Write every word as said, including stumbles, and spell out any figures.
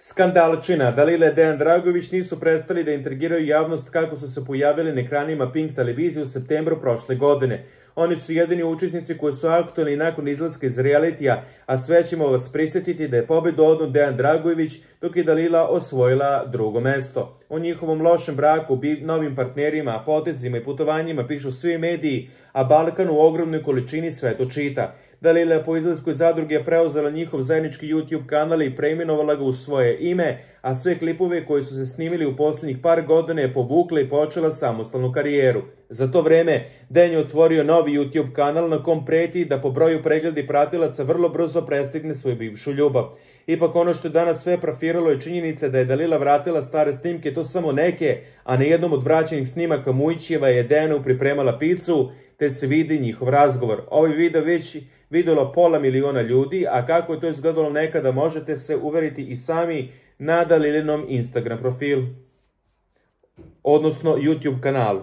Skandalčina. Dalila i Dejan Dragojević nisu prestali da intrigiraju javnost kako su se pojavili na ekranima Pink televizije u septembru prošle godine. Oni su jedini učesnici koji su aktualni nakon izlaska iz realitija, a sve ćemo vas prisjetiti da je pobedu odneo Dejan Dragojević, dok je Dalila osvojila drugo mesto. O njihovom lošem braku, novim partnerima, potezima i putovanjima pišu svi mediji, a Balkan u ogromnoj količini sve to čita. Dalila je po izlasku iz zadruge preuzela njihov zajednički YouTube kanal i preimenovala ga u svoje ime, a sve klipove koji su se snimili u posljednjih par godina je povukla i počela samostalnu karijeru. Za to vreme Dejan je otvorio novi YouTube kanal na kom preti da po broju pregleda pratilaca vrlo brzo prestigne svoju bivšu ljubav. Ipak ono što je danas sve profiralo je činjenica da je Dalila vratila stare snimke, to samo neke, a na jednom od vraćenih snimaka Mujićeva je Dejanu pripremala picu, te se vidi njihov razgovor. Ovaj video već vidjelo pola miliona ljudi, a kako je to izgledalo nekada možete se uveriti i sami na Dalilinom Instagram profilu, odnosno YouTube kanalu.